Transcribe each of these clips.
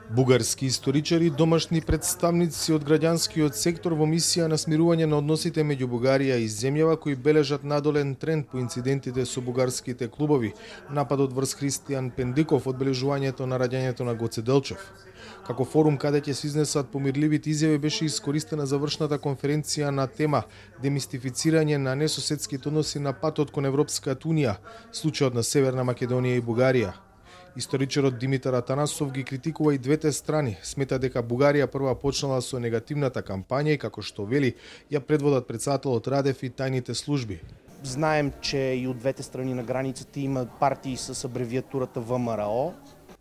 Бугарски историчари, домашни представници од граѓанскиот сектор во мисија на смирување на односите меѓу Бугарија и земјава кои бележат надолен тренд по инцидентите со бугарските клубови, нападот врз Христијан Пендиков, одбележувањето на раѓањето на Гоце Делчев. Како форум каде ќе се изнесат помирливите изјави беше искористена завршната конференција на тема демистифицирање на несоседските односи на патот кон Европската унија, случајот на Северна Македонија и Бугарија. Историчарот Димитар Атанасов ги критикува и двете страни, смета дека Бугарија прва почнала со негативната кампања и како што вели, ја предводат претседателот Радев и тајните служби. Знаем, че и од двете страни на границата има партии с абревиатурата ВМРО.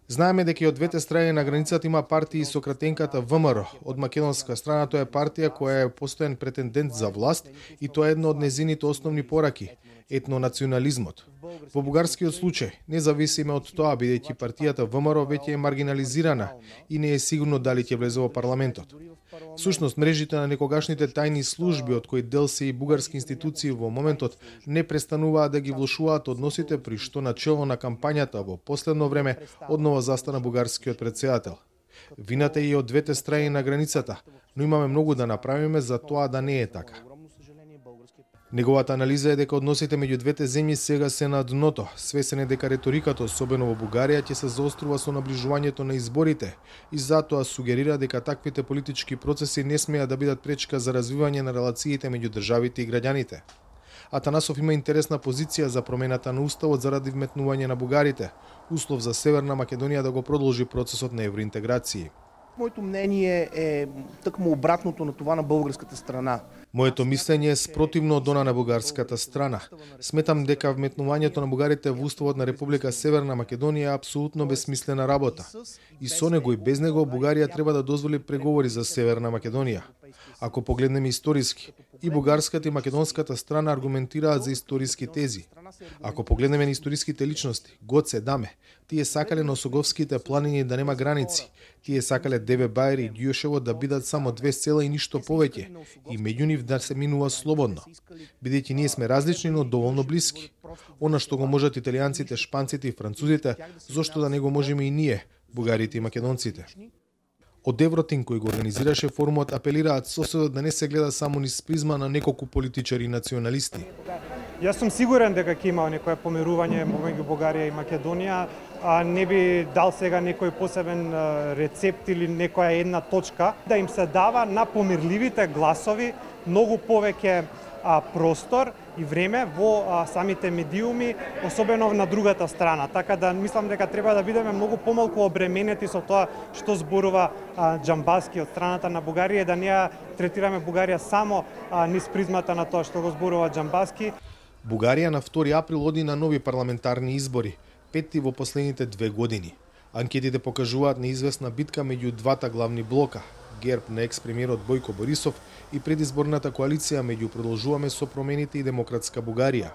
Знаеме дека и од двете страни на границата има партии со кратенката ВМРО. Од македонска страна тоа е партија која е постојан претендент за власт и тоа е едно од незините основни пораки – етнонационализмот. Во бугарскиот случај, независимо од тоа, бидејќи партијата ВМРО веќе е маргинализирана и не е сигурно дали ќе влезе во парламентот. Всушност, мрежите на некогашните тајни служби, од кои дел се и бугарски институции во моментот, не престануваат да ги влошуваат односите, при што начело на кампањата во последно време однова застана бугарскиот претседател. Вината е и од двете страни на границата, но имаме многу да направиме за тоа да не е така. Неговата анализа е дека односите меѓу двете земји сега се на дното. Свесен е дека реториката, особено во Бугарија, ќе се заострува со наближувањето на изборите и затоа сугерира дека таквите политички процеси не смеат да бидат пречка за развивање на релациите меѓу државите и граѓаните. Атанасов има интересна позиција за промената на уставот заради вметнување на бугарите, услов за Северна Македонија да го продолжи процесот на евроинтеграција. Моето мнение е тъкмо обратното на това на българската страна. Моето мислење е спротивно од она на бугарската страна. Сметам дека вметнувањето на бугарите во уставот на Република Северна Македонија е апсолутно бесмислена работа. И со него и без него Бугарија треба да дозволи преговори за Северна Македонија. Ако погледнеме историски, и бугарската и македонската страна аргументираат за историски тези. Ако погледнеме на историските личности, Гоце, Даме, тие сакале на Осоговските планини да нема граници, тие сакале Деве Бајри и Ѓушево да бидат само две села и ништо повеќе, и меѓу нив да се минува слободно. Бидејќи ние сме различни, но доволно блиски. Она што го можат италијанците, шпанците и французите, зошто да не го можеме и ние, бугарите и македонците. Од Евротин кој го организираше форумот апелираат соседот да не се гледа само низ призма на неколку политичари и националисти. Јас сум сигурен дека ќе има некое помирување меѓу Бугарија и Македонија, а не би дал сега некој посебен рецепт или некоја една точка да им се дава на помирливите гласови многу повеќе простор и време во самите медиуми, особено на другата страна. Така да мислам дека треба да бидеме многу помалку обременети со тоа што зборува Џамбаски од страната на Бугарија и да не ја третираме Бугарија само низ призмата на тоа што го зборува Џамбаски. Бугарија на 2 април оди на нови парламентарни избори, петти во последните 2 години. Анкетите покажуваат неизвестна битка меѓу двата главни блока, ГЕРБ на екс-премиерот Бојко Борисов и предизборната коалиција меѓу Продолжуваме со промените и Демократска Бугарија.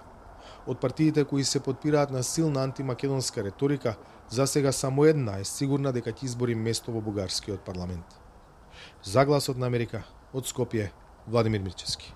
Од партиите кои се потпираат на силна антимакедонска реторика, за сега само една е сигурна дека ќе избори место во бугарскиот парламент. За Гласот на Америка, од Скопје, Владимир Мирчевски.